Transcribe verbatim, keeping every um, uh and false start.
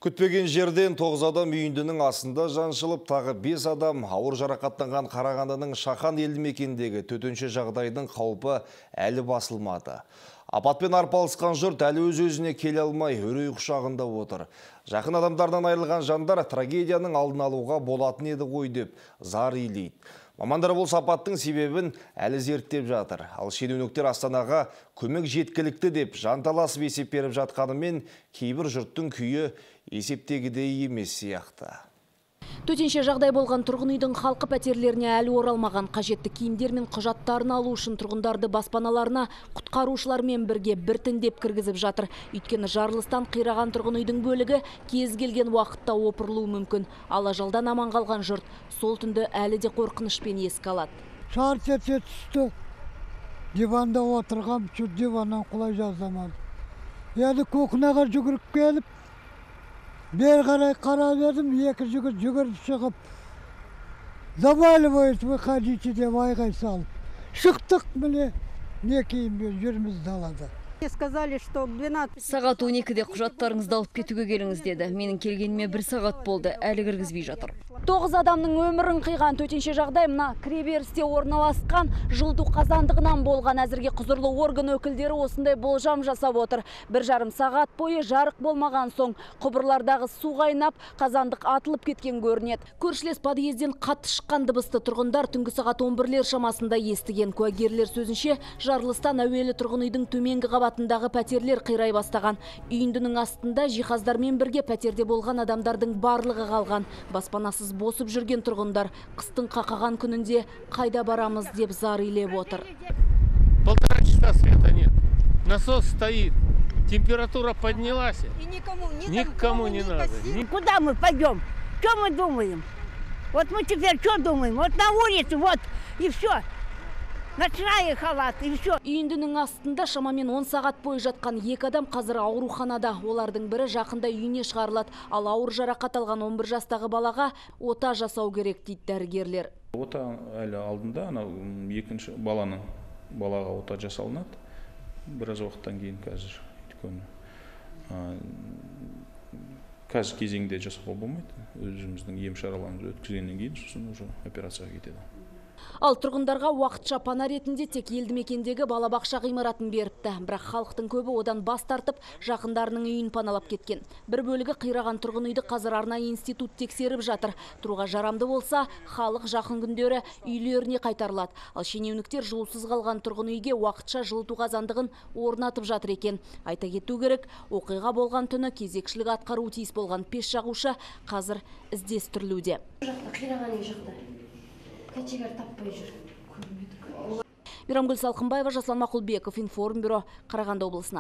Күтпеген жерден тоғыз адам үйіндінің астында жаншылып, тағы бес адам ауыр жарақаттанған Қарағандының Шахан елді мекеніндегі төтенше жағдайдың қаупі әлі басылмады. Апатпен арпалысқан жұрт әлі өз-өзіне келе алмай, үрей құшағында отыр. Жақын адамдардан айырылған жандар трагедияның алдын алуға болатын еді ғой деп зар илейді. Мамандар бұл апаттың себебін әлі зерттеп жатыр. Ал шенеуніктер Астанаға көмек жеткілікті деп жанталасып есеп беріп жатқанымен, кейбір жұрттың күйі есептегідей емес сияқты. Төтенше жағдай болған тұрғын үйдің халқы пәтерлеріне әлі оралмаған, қажетті киімдер мен құжаттарын алу үшін тұрғындарды баспаналарына құтқарушылармен бірге біртіндеп кіргізіп жатыр. Өйткені жарылыстан қираған тұрғын үйдің бөлігі кез келген уақытта опырылуы мүмкін. Ал ажалдан аман қалған жұрт сол түнді әлі де қорқынышпен еске алады. Сағат ете түсті. Диванда отырғам, şu диваннан құлай жаздамады. Енді көкінаға жүгіріп келіп, бер қарай қарап едім, екі жігіт жүгіріп шығып, заваливает, выходите деп айғай салып. Шықтық міне, не кейін жүрміз далада. Сказали, что двенадцать... Сағат он екіде құжаттарыңызды алып кетуге келіңіз деді. Менің келгеніме бір сағат болды, әлі кіргізбей жатыр. Тоғыз адамның өмірін қиған төтенше жағдай мына кіреберісте орналасқан жылыту қазандығынан болған. Әзірге құзырлы орган өкілдері осындай болжам жасап отыр. Бір жарым сағат бойы жарық болмаған соң құбырлардағы су қайнап, қазандық атылып кеткен көрінеді. Көршілес подъезден қатты шыққан дыбысты тұрғындар түнгі сағат он бірлер шамасында естіген. Куәгерлер сөзінше, жарылыстан әуелі тұрғын үйдің төменгі қабатындағы пәтерлер қирай бастаған. Үйіндінің астында жиһаздармен бірге пәтерде болған адамдардың барлығы қалған. Баспанасыз босып жүрген тұрғындар қыстың қақаған күнінде қайда барамыз деп зар илеп отыр. Полтора часа света нет. Насос стоит. Температура поднялась. И никому, ни никому не надо. Куда мы пойдем? Что мы думаем? Вот мы теперь что думаем? Вот на улице, вот, и все. Ночная халат, и все. Үйіндінің астында шамамен он сағат бойы жатқан екі адам қазір ауруханада. Олардың бірі жақында үйіне шығарылады. Ал ауыр жарақат алған он бір жастағы балаға ота жасау керек дейді дәрігерлер. Ота әлі алдында, екінші баланың балаға ота жасалынады. Біраз уақыттан кейін қазір. Қазір кезеңде жасауға болмайды. Өзіміздің ем шараларымызды өткізгеннен кейін сосын уже операцияға кетеді. Ал тұрғындарға уақытша пана ретінде тек елді мекендегі балабақша ғимаратын беріпті. Бірақ халықтың көбі одан бас тартып, жақындарының үйін паналап кеткен. Бір бөлігі қираған тұрғын үйді қазір арнайы институт тексеріп жатыр. Тұруға жарамды болса, халық жақын күндері үйлеріне қайтарылады. Ал шенеуніктер жылусыз қалған тұрғын үйге уақытша жылыту қазандығын орнатып жатыр екен. Айта кету керек, оқиға болған түні кезекшілік атқаруы тиіс болған пеш жағушы қазір іздестірілуде. Кәтегер таппай жүр. Мейрамгүл Салқынбаева, Жаслан Мақұлбеков, Информбюро, Қарағанды облысынан.